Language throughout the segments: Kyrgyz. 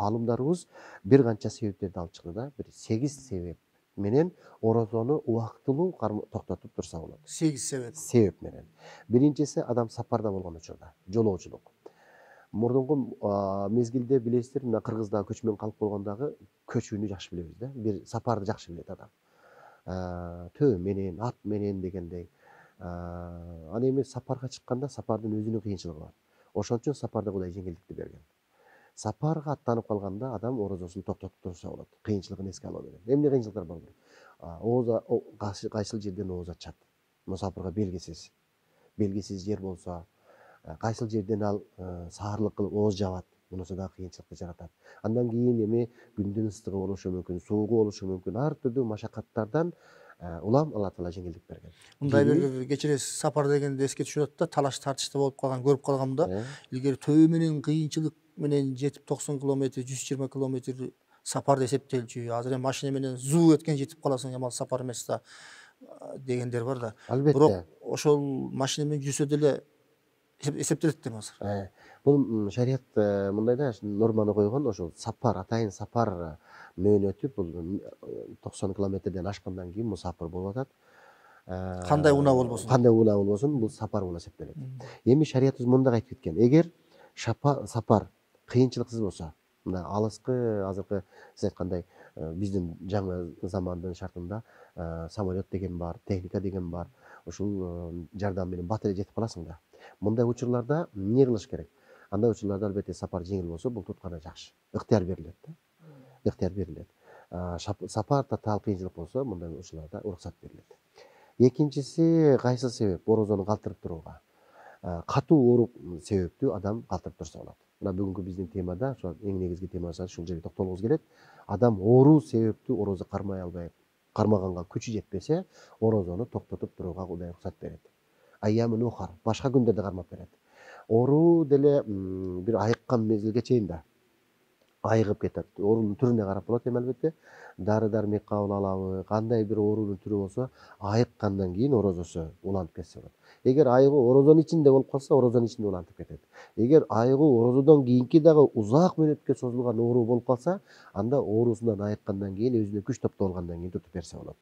Аалымдарыбыз бир канча себептерди алып чыкты да. Бир 8 себеп менен орозону убактылуу токтотуп турса болот. 8 себеп. Себеп менен. Биринчиси адам сапарда болгон учурда, жолоочулук. Мурдунку мезгилде билесиздер, мына Кыргыздагы көчмөн калк болгондагы көчүүнү жакшы билебиз да. Бир сапарды жакшы билет адам. Төө менен, ат менен дегендей. Ана эми сапарга чыкканда сапардын өзүнүн кыйынчылыгы бар. Ошон үчүн сапарда Кудай жеңилдикти берген. Сапарга аттанып калганда адам орозосун токтотуп турса болот. Кыйынчылыгын эске ала берет. Эмне кыйынчылыктар бар? Кайсыл жерден ооз ачат. Мусапырга белгисиз жер болсо, кайсыл жерден ал саарлык кылып ооз жабат. Мунусу да кыйынчылыкты жаратат. Андан кийин эми күндүн ыстыгы болушу мүмкүн, суугу болушу мүмкүн. Ар түрдүү машакаттардан улам Алла Таала жеңилдик берген. Мындай бир кечиресиз, сапар дегенде эске түшүп атат да, талаш тартышта болуп калган, көрүп калгам да. Илгери төө менен кыйынчылык менен жетип 90 километр, 120 километр сапар эсептелчү. Азыр эми машина менен зуу эткен жетип каласың, ямал сапар эмес да дегендер бар да. Албетте. Бирок ошол машина менен жүрсө деле эсептелет да азыр. Бул шарият мындай да норманы койгон, ошол сапар, атайын сапар мөөнөтү бул 90 километрден ашкандан кийин мусапыр болуп атат. Кандай унаа болбосун, бул сапар болуп эсептелет. Эми шариятыбыз мындай айтып кеткен. Эгер сапар кыйынчылыксыз болсо, мына алыскы азыркы сиз айткандай биздин жаңы замандын шартында самолет деген бар, техника деген бар. Ушул жардам менен бат эле жетип каласың да. Мындай учурларда эмне кылыш керек? Андай учурларда албетте сапар жеңил болсо, бул тутканы жакшы. Ыктыяр берилет да. Ыктыяр берилет. Сапар татаал кыйынчылык болсо, мындай учурларда уруксат берилет. Экинчиси кайсы себеп? Орозону калтырып турууга. Катуу оорук себептүү адам калтырып турса болот. Мына бүгүнкү биздин темада, ошо эң негизги темасы ушул жерге токтолгубуз келет. Адам оору себептүү орозо кармай албай, кармаганга күчү жетпесе, орозону токтотуп турууга Кудай уруксат берет. Айямын ухар, башка күндөрдө кармап берет. Оору деле бир айыккан мезгилге чейин да айыгып кетет. Оорунун түрүнө карап болот эми албетте. Дары-дармек кабыл алабы, кандай бир оорунун түрү болсо, айыккандан кийин орозосу улантып кетсе болот. Эгер айыгуу орозонун ичинде болуп калса, орозонун ичинде улантып кетет. Эгер айыгуу орозодон кийинки дагы узак мөөнөткө созулган оору болуп калса, анда оорусунан айыккандан кийин, өзүнө күч топтоп алгандан кийин тутуп берсе болот.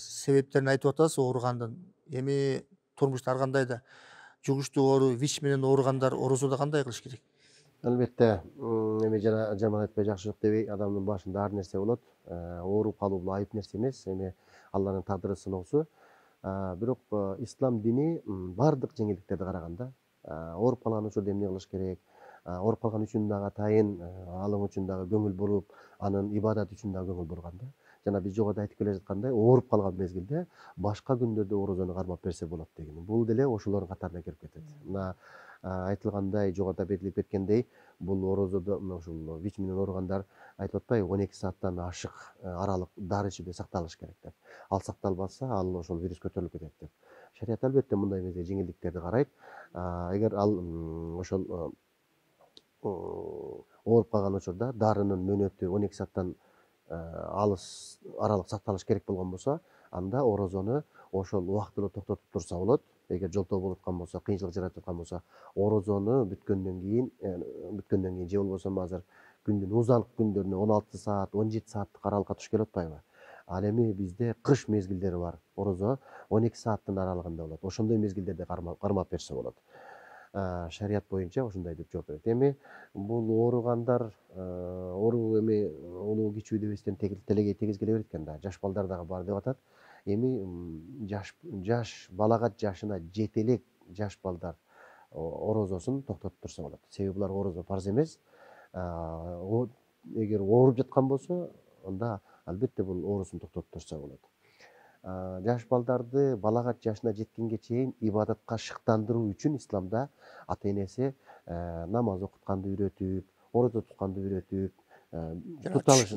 Себептерин айтып атасыз ооругандын. Эми турмушта ар кандай да жугуштуу оору, ВИЧ менен ооругандар орозодо кандай кылыш керек? Албетте, эми жана жаман айтпай жакшылык дебей, адамдын башында ар нерсе болот. Ооруп калуу бул айып нерсе эмес, эми Алланын тагдыры сыноосу. Бирок ислам дини бардык жеңилдиктерди караганда, ооруп калган учурда эмне кылыш керек, ооруп калган үчүн дагы атайын алым үчүн дагы көңүл буруп, анын ибадат үчүн дагы көңүл бурган да. Жана биз жогоруда айтып келе жаткандай, ооруп калган мезгилде башка күндөрдө орозону кармап берсе болот деген. Бул деле ошолордун катарына кирип кетет. Мына айтылгандай, жогоруда белгилеп кеткендей, бул орозодо ушул ВИЧ менен ооругандар айтып атпайбы, 12 сааттан ашык аралык дары ичүүгө сакталыш керек деп. Ал сакталбаса, ал ошол вирус көтөрүлүп кетет деп. Шарият албетте мындай мезгилде жеңилдиктерди карайт. Эгер ал ошол ооруп калган учурда дарынын мөөнөтү 12 сааттан алыс аралык сакталыш керек болгон болсо, анда орозону ошол убактылуу токтотуп турса болот. Эгер жолтоо болуп аткан болсо, кыйынчылык жаратып аткан болсо, орозону бүткөндөн кийин же болбосо азыр күндүн узанкы күндөрүнө 16 саат, 17 сааттык аралыкка туш келип атпайбы? Ал эми бизде кыш мезгилдери бар. Орозо 12 сааттын аралыгында болот. Ошондой мезгилдерде кармап берсе болот. Шарият боюнча ошондой деп жооп берет. Эми бул ооругандар, оору эми улуу кичүү дебестен телегей тегиз келе берет экен да. Жаш балдар дагы бар деп атат. Эми жаш балагат жашына жете элек жаш балдар орозосун токтотуп турса болот. Себеби буларга орозо фарз эмес. Эгер ооруп жаткан болсо, анда албетте бул оорусун токтотуп турса болот. Жаш балдарды балагат жашына жеткенге чейин ибадатка шыктандыруу үчүн исламда ата-энеси намаз окутканды үйрөтүп, орозо тутканды үйрөтүп,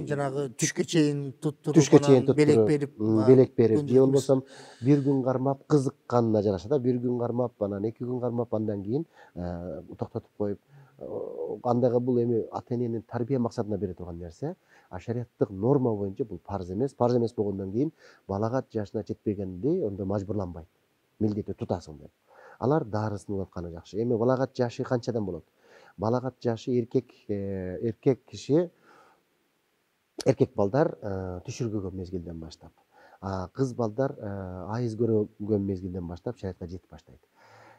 жанагы түшкө чейин туттуруп, белек берип, же болбосо бир күн кармап кызыкканына жараша да, бир күн кармап, анан 2 күн кармап, андан кийин токтотуп коюп, андайга бул эми ата-эненин тарбия максатына бере турган нерсе. Шариаттык норма боюнча бул фарз эмес. Фарз эмес болгондон кийин балагат жашына жетпегенди ондо мажбурланбайт. Милдеттүү тутасың деп. Алар дарысын улатканы жакшы. Эми балагат жашы канчадан болот? балагат жашы эркек киши, эркек балдар түшүргөгөн мезгилден баштап, кыз балдар айыз көргөн мезгилден баштап шариатка жетип баштайт.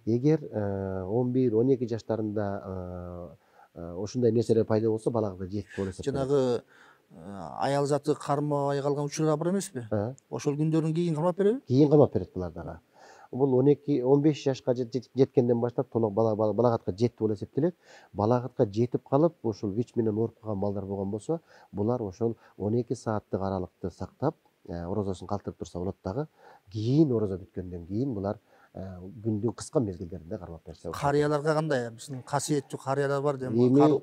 Эгер 11-12 жаштарында ушундай нерселер пайда болсо, балагатка жетти болуп эсептелет. жанагы аял заты кармабай калган учурлар бар эмеспи? Ошол күндөрдөн кийин кармап береби? Кийин камап берет булар дагы. Бул 12-15 жашка жеткенден баштап толук балагатка жетти болуп эсептелет. Балагатка жетип калып, ушул ВИЧ менен ооруп калган балдар болгон болсо, булар ошол 12 сааттык аралыкты сактап, орозосун калтырып турса болот дагы. Кийин орозо бүткөндөн кийин булар күндүн кыска мезгилдеринде кармап берсе. Карыяларга кандай? Биздин касиеттүү карыялар бар да,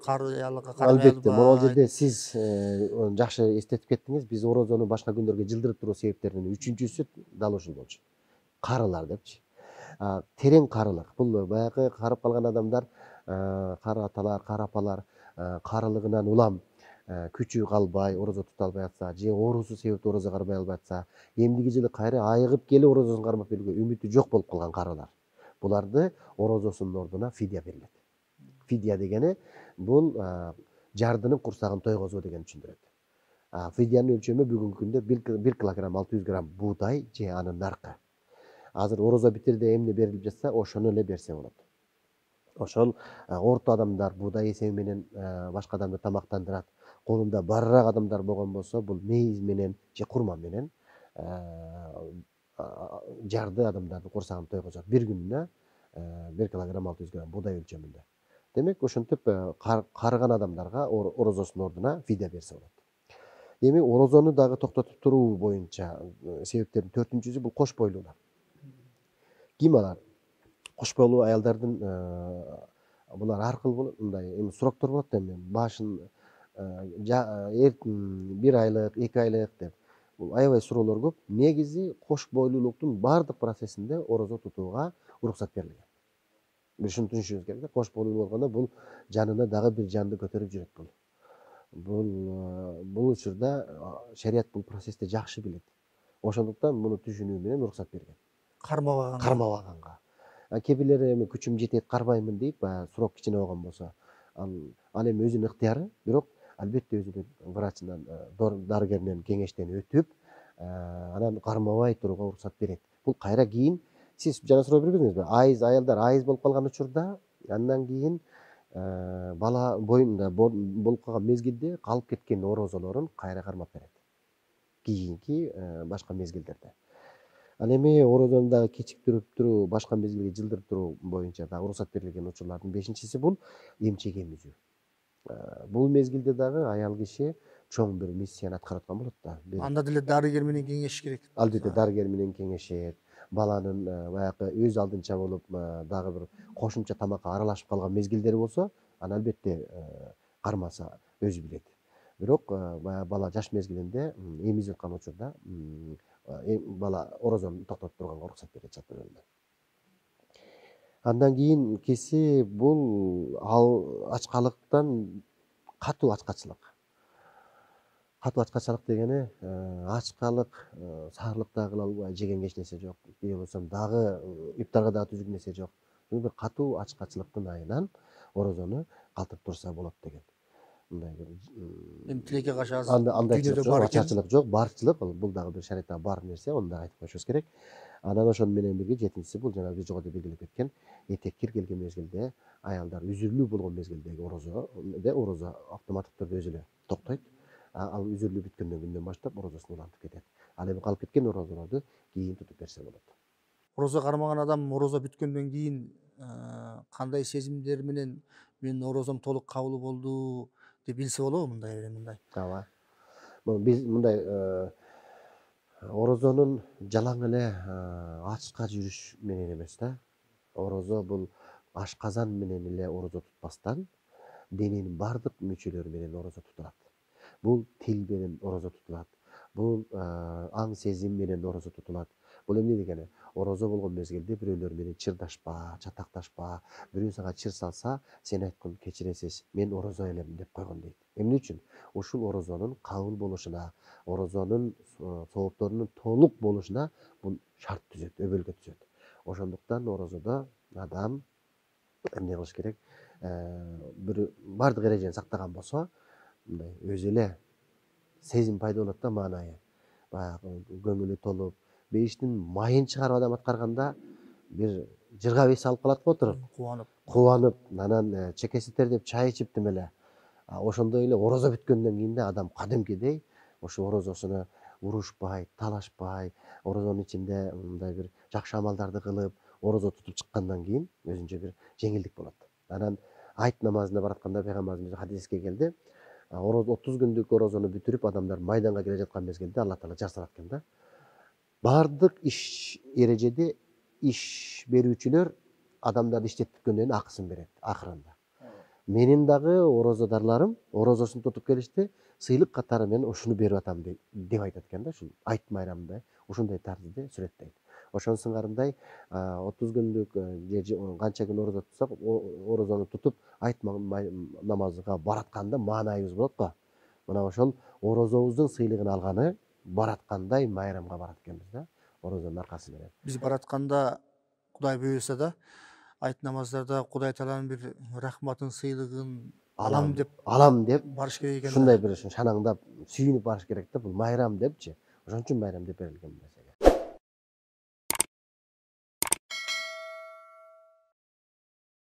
карыяларга албетте, могул жерде сиз жакшы эстетип кеттиңиз. Биз орозону башка күндөргө жылдырып туруу себептеринин үчүнчүсү дал ушул болчу. Карылар депчи. Терең карылык. Бул баягы карып калган адамдар, кара аталар, кара апалар карылыгынан улам күчү калбай, орозо тута албай атса, же оорусу себептүү орозо кармай албай атса, эмдиги жылы кайра айыгып келип орозосун кармап берүүгө үмүтү жок болуп калган карылар. Буларды орозосунун ордуна фидия берилет. Фидия дегени бул жардынын курсагын тойгозуу дегенди түшүндүрөт. Фидиянын өлчөмү бүгүнкү күндө 1 килограмм 600 грамм буудай же анын наркы. Азыр орозо битирде эмне берилип жатса, ошону эле берсе болот. Ошол орто адамдар буудай эсеби менен башка адамды тамактандырат. Колунда барыраак адамдар болгон болсо, бул мейиз менен же курма менен жарды адамдардын курсагын тойгозот. Bir күнүнө 1 килограмм 600 грамм буудай өлчөмүндө. Демек, ошентип карыган адамдарга орозосунун ордуна фидия берсе болот. Эми орозону дагы токтотуп туруу боюнча себептердин 4-үнчүсү бул кош бойлуулар. Ким алар? Кош бойлуу аялдардын булар аркылуу мындай суроктор болот да, эми башын 1 айлык, 2 айлык деп. Бул аябай суроолор көп. Негизи кош бойлуулуктун бардык процессинде орозо тутууга уруксат берилген. Биз ушуну түшүнүшүбүз керек да. Кош бойлуу болгондо бул жанына дагы бир жанды көтөрүп жүрөт бул. Бул учурда шарият бул процессти жакшы билет. Ошондуктан муну түшүнүү менен уруксат берген. Кармабаганга. Кээ бирлери эми күчүм жетет, кармаймын дейт, баягы сурок кичине болгон болсо. Ал эми өзүнүн ыктыяры, бирок албетте өзүнүн врачынан, дарыгеринен кеңештен өтүп, анан кармабай турууга уруксат берет. Бул кайра кийин сиз жана суроо бербедиңизби? Аялдар айыз болуп калган учурда, андан кийин бала боюнда болуп калган мезгилде калып кеткен орозолорун кайра кармап берет. Кийинки башка мезгилдерде. Ал эми орозону дагы кечиктирип туруу, башка мезгилге жылдырып туруу боюнча дагы уруксат берилген учурлардын 5-инчиси бул эмчек эмизүү. Бул мезгилде дагы аял киши чоң бир миссияны аткарып аткан болот да. Анда деле дарыгер менен кеңешиш керек. Албетте дарыгер менен кеңешет. Баланын баягы өз алдынча болуп дагы бир кошумча тамакка аралашып калган мезгилдери болсо, аны албетте кармаса өзү билет. Бирок баягы бала жаш мезгилинде эмизип аткан учурда бала орозону токтотуп турганга уруксат берет чатырында. Андан кийинкиси бул ачкалыктан катуу ачкачылык. Катуу ачкачылык дегени ачкалык, саарлык дагы кыла албай, жеген эч нерсе жок. Же болбосо дагы ифтарга дагы түзүк нерсе жок. Бир катуу ачкачылыктын айынан орозону калтырып турса болот деген. Мындай бир Эми тилекке каршы андай ачарчылык жок, барчылык. Бул дагы бир шариатта бар нерсе, аны дагы айтып коюшубуз керек. Анан ошону менен бирге 7-инчиси бул жана биз жогоруда белгилеп кеткен этек кир келген мезгилде, аялдар үзүрүлүү болгон мезгилдеги орозо автоматтык түрдө өзү эле токтойт. Ал үзүрүлүү бүткөндөн күндөн баштап орозосун улантып кетет. Ал эми калып кеткен орозолорду кийин тутуп берсе болот. Орозо кармаган адам орозо бүткөндөн кийин кандай сезимдер менен менин орозом толук кабыл болду деп билсе болобу мындай? Ооба. Биз мындай орозонун жалаң эле ачка жүрүш менен эмес да. Орозо бул ашказан менен эле орозо тутпастан, дененин бардык мүчөлөрү менен орозо тутулат. Бул тил менен орозо тутулат. Бул аң сезим менен орозо тутулат. Бул эмне дегени? Орозо болгон мезгилде бирөөлөр менен чырдашпа, чатакташпа. Бирөө сага чыр салса, сен айткын кечиресиз, мен орозо элем деп койгон дейт. Эмне үчүн? Ушул орозонун кабыл болушуна, орозонун соопторунун толук болушуна бул шарт түзөт, өбөлгө түзөт. Ошондуктан орозодо адам эмне кылыш керек? бир баардык эрежени сактаган болсо, мындай өзү эле сезим пайда болот да, маанайы. Баягы көңүлү толуп, бейиштин майын чыгарып адам аткарганда бир жыргап эс алып калат го отуруп, кубанып, анан чекеси тердеп чай ичип тим эле. Ошондой эле орозо бүткөндөн кийин да адам кадимкидей ошо орозосуна урушпай, талашпай, орозонун ичинде мындай бир жакшы амалдарды кылып, орозо тутуп чыккандан кийин өзүнчө бир жеңилдик болот. Анан айт намазына баратканда пайгамбарыбыз хадиске келди. 30 күндүк орозону бүтүрүп адамдар майданга келе жаткан мезгилде Алла Таала жар салат экен да. Баардык иш эрежеде иш берүүчүлөр адамдарды иштетипкөндөн кийин акысын берет акырында. Менин дагы орозодарларым орозосун тутуп келишти, сыйлык катары мен ушуну берип атам деп айтат экен да, ушул айт майрамында ушундай тарзде сүрөттөйт. Ошонун сыңарындай 30 күндүк же канча күн орозо тутсак, орозону тутуп айт намазга баратканда маанайыбыз болот го. Мына ошол орозобуздун сыйлыгын алганы бараткандай майрамга барат экенбиз да, орозонун аркасы менен. Биз баратканда Кудай буйруса да айт намаздарда Кудай Тааланын бир рахматын, сыйлыгын алам деп барыш керек экен. Ушундай бир шанаңдап, сүйүнүп барыш керек да, бул майрам депчи. Ошон үчүн майрам деп берилген.